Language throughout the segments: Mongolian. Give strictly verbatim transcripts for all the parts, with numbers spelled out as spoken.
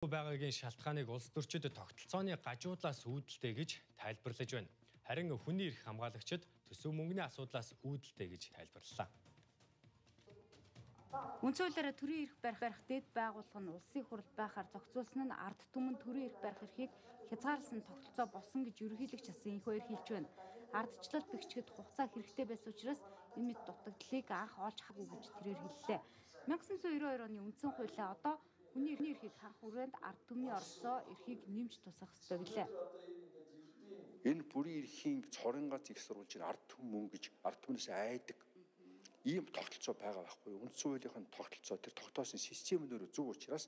Байгаагийн шалтгааныг улс төрчид тогтолцооны гажуудлаас үүдэлтэй гэж тайлбарлаж байна. Харин хүний эрх хамгаалагчид төсөв мөнгөний асуудлаас үүдэлтэй гэж тайлбарллаа. Үндсэн хуулиараа төрийн эрх барих барих дэд байгууллага нь улсын хурал байхаар зохицуулсан нь ард түмэн төрийн эрх барих эрхийг хязгаарласан тогтолцоо болсон гэж ерөнхийлөгч асан энхүү хэлж байна. Ардчлал бэгчгэд хугацаа хэрэгтэй байсан учраас энэ мэт дутагдлыг анх олж хараагүй гэж тэрээр хэллээ. мянга санаа девяносто хоёр оны үндсэн хуулиа одоо хүний эрхийг ханх хүрээнд ард түмний оролцоо эрхийг нэмж тусах ёстой билээ. Энэ бүрийн эрхийн цорын гац их сурвалжийн ард түмэн мөнгө гэж ард түмнээс айдаг ийм тогтолцоо байгаа байхгүй юу? Үндсэн хуулийнхын тогтолцоо тэр тогтоосон систем нөр зөв учраас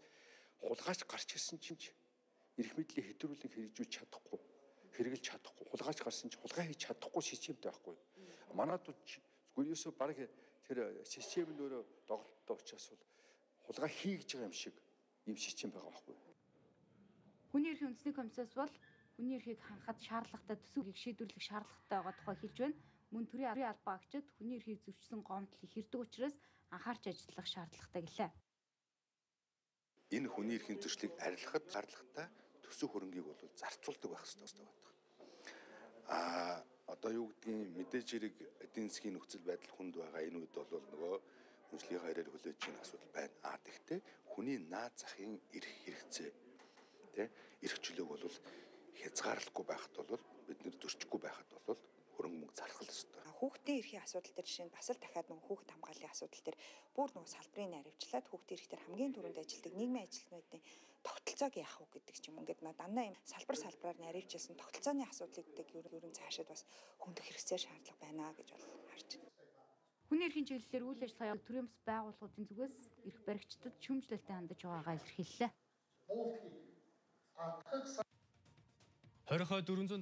хулгайч гарч ирсэн чинь эрх мэдлийг хэтрүүлэн хэрэгжүүлж чадахгүй, хэрэгжилж чадахгүй, хулгайч гарсан чинь хулгай хийж чадахгүй системтэй байхгүй юу? Манайд гүрээсөө баг тэр систем нөр доголдолтой учраас бол хулгай хийж байгаа юм шиг ийм систем байгаа байхгүй юу? Хүний эрхийн үндэсний комиссаас бол хүний эрхийг хангахад шаардлагатай төсөвийг шийдвэрлэх шаардлагатай байгаа тухай хэлж байна. Мөн төрийн албан агчид хүний эрхийг зөрчсөн гомдол их ирдэг учраас анхаарч ажиллах шаардлагатай гэлээ. Энэ хүний эрхийн зөрчлийг арилгахад шаардлагатай төсөв хөрөнгийг бол зарцуулдаг байх хэрэгтэй байдаг. Аа одоо юу гэдгийг мэдээж хэрэг эдийн засгийн нөхцөл байдал хүнд байгаа энэ үед бол нөгөө хүнслэлийн харьяар хүлээж байгаа асуудал байна. Аа тэгтээ хүний наад захын эрх хэрэгцээ тэ эрх чөлөөг бол хязгаарлахгүй байхад бол бид нэр зөрчихгүй байхад бол хөрөнгө мөнгө зархал ёстой. Хүүхдийн эрхийн асуудал дээр жишээ нь бас л дахиад нөгөө хүүхэд хамгааллын асуудал дээр бүр нөгөө салбарын наривчлаад хүүхдийн эрх дээр хамгийн түрүүнд ажилтдаг нийгмийн ажилтнуудын тогтолцоог яах вэ гэдэг ч юм ингээд нөө дандаа юм салбар салбараар наривчилсан тогтолцооны асуудлыг ер нь цаашаад бас хөндөх хэрэгцээ шаардлага байна гэж бол харж байна. Хүний эрхийн чиглэлээр үйл ажиллагаа төрийн бас байгууллагуудын зүгээс эрх баригчдад шүүмжлэлтэй хандаж байгаагаа илэрхийллээ. Хорихоо дөрвөн зуун